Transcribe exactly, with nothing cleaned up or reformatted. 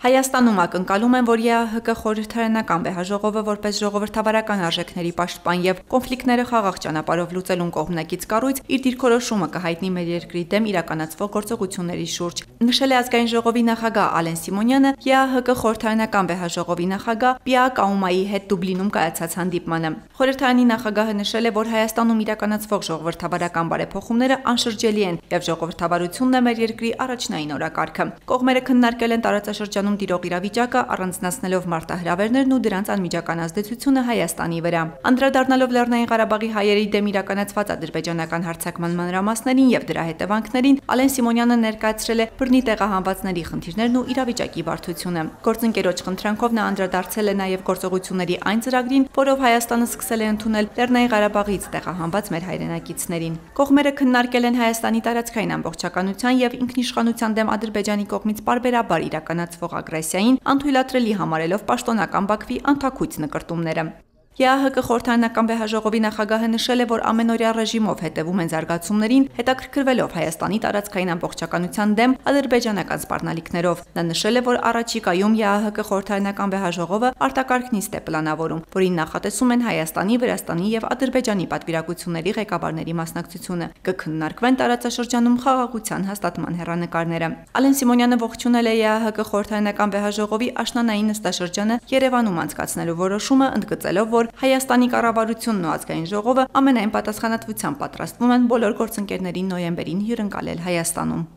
Հայաստանում ակնկալում են, որ ԵԱՀԿ խորհրդարանական վեհաժողովը որպես ժողովրդավարական արժեքների պաշտպան եւ կոնֆլիկտները խաղաղ ճանապարհով լուծելուն կողմնակից կառույց իր դիրքորոշումը կհայտնի մեր երկրի դեմ իրականացվող գործողությունների շուրջ։ Նշել է ազգային ժողովի նախագահ Ալեն Սիմոնյանը ԵԱՀԿ խորհրդարանական վեհաժողովի նախագահ Պիա Կաումայի հետ Դուբլինում կայացած հանդիպմանը։ Խորհրդարանի նախագահը նշել է, որ Հայաստանում իրականացվող ժողովրդավարական բարեփոխումները անշրջելի են եւ ժողովրդավարությունն է մեր երկրի առաջնային օրակարգը։ Կողմերը քննարկել են տարածաշրջանում տիրող իրավիճակը, առանձնացնելով մարտահրավերներն ու դրանց անմիջական ազդեցությունը Հայաստանի վրա։ Անդրադառնալով Լեռնային Ղարաբաղի հայերի դեմ իրականացված ադրբեջանական հարձակման մանրամասներին եւ դրա հետևանքներին, Ալեն Սիմոնյանը ներկայացրել է բռնի տեղահանվածների խնդիրներն ու իրավիճակի բարդությունը։ Գործընկերոջ խնդրանքով նա անդրադարձել է նաեւ գործողությունների այն ծրագրին, որով Հայաստանը սկսել է ընդունել Լեռնային Ղարաբաղից տեղահանված մեր հայրենակիցներին։ Կողմերը քննարկել են Հայաստանի տարածքային ամբողջականության եւ ինքնիշխանության դեմ Ադրբեջանի կողմից պարբերաբար իրականացվող ագրեսիային, անթույլատրելի համարելով պաշտոնական Բաքվի անթաքույց նկրտումները։ ԵԱՀԿ խորհրդարանական վեհաժողովի նախագահը նշել է, որ ամենօրյա ռեժիմով հետևում են զարգացումներին, հետաքրքրվելով Հայաստանի տարածքային ամբողջականության դեմ ադրբեջանական սպառնալիքներով։ Նա նշել է, որ առաջիկայում ԵԱՀԿ խորհրդարանական վեհաժողովը արտակարգ նիստ է պլանավորում, որին նախատեսում են Հայաստանի, Վրաստանի եւ Ադրբեջանի պատվիրակությունների ղեկավարների մասնակցությունը։ Կքննարկվեն տարածաշրջանում խաղաղության հաստատման հեռանկարները։ Ալեն Սիմոնյանը ողջունել է ԵԱՀԿ խորհրդարանական վեհաժողովի աշնանային նստաշրջանը Երևանում անցկացնելու որոշումը, ընդգծելով, որ Հայաստանի կառավարությունն ու ազգային ժողովը ամենայն պատասխանատվությամբ պատրաստվում են բոլոր գործընկերներին նոյեմբերին հյուրընկալել Հայաստանում։